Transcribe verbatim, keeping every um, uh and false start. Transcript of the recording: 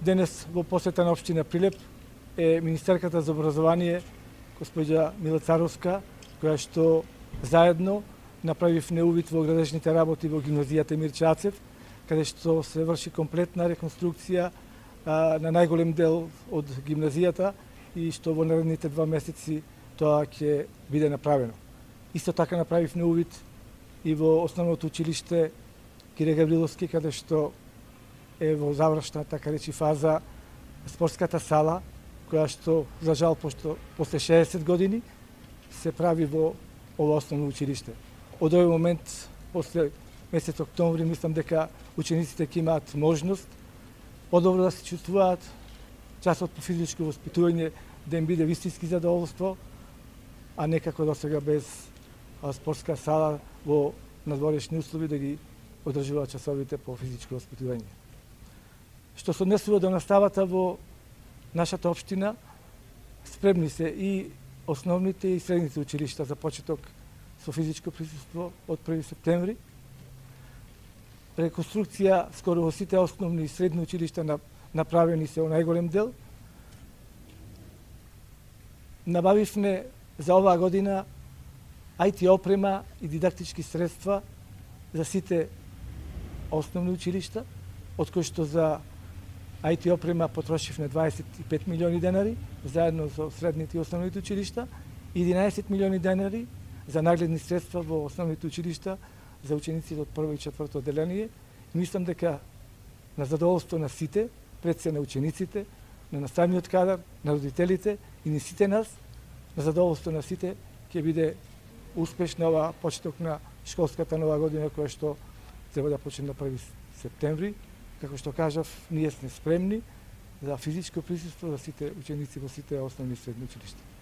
Денес во посета на општина Прилеп е министерката за образование, госпоѓа Мила Царовска, која што заедно направивме увид во градежните работи во гимназијата Емир Чацев, каде што се врши комплетна реконструкција а, на најголем дел од гимназијата и што во наредните два месеци тоа ќе биде направено. Исто така направивме увид и во основното училиште Кире Гавриловски, каде што е во завршна, така речи, фаза спортската сала, која што, за жал, пошто после шеесет години се прави во ова основно училиште. Од овој момент, после месец октомври, мислам дека учениците ќе имаат можност подобро да се чувствуваат, часот по физичко воспитување да им биде вистински задоволство, а не како досега без спортска сала во надворешни услови да ги одржуваат часовите по физичко воспитување. Што се однесува до наставата во нашата општина, спремни се и основните и средните училишта за почеток со физичко присуство од први септември. Реконструкција скоро во сите основни и средни училишта направени се во најголем дел. Набавивме за оваа година ай ти опрема и дидактички средства за сите основни училишта, од кои што за ай ти опрема потрошивме дваесет и пет милиони денари, заедно со средните и основните училишта, и единаесет милиони денари за нагледни средства во основните училишта за учениците од прво и четврто одделение. И мислам дека на задоволство на сите, пред се на учениците, на наставниот кадар, на родителите и на сите нас, на задоволство на сите, ќе биде успешна ова почеток на школската нова година, која што треба да почне на први септември. Како што кажав, ние сме спремни за физичко присуство за сите ученици во сите основни и средни училишта.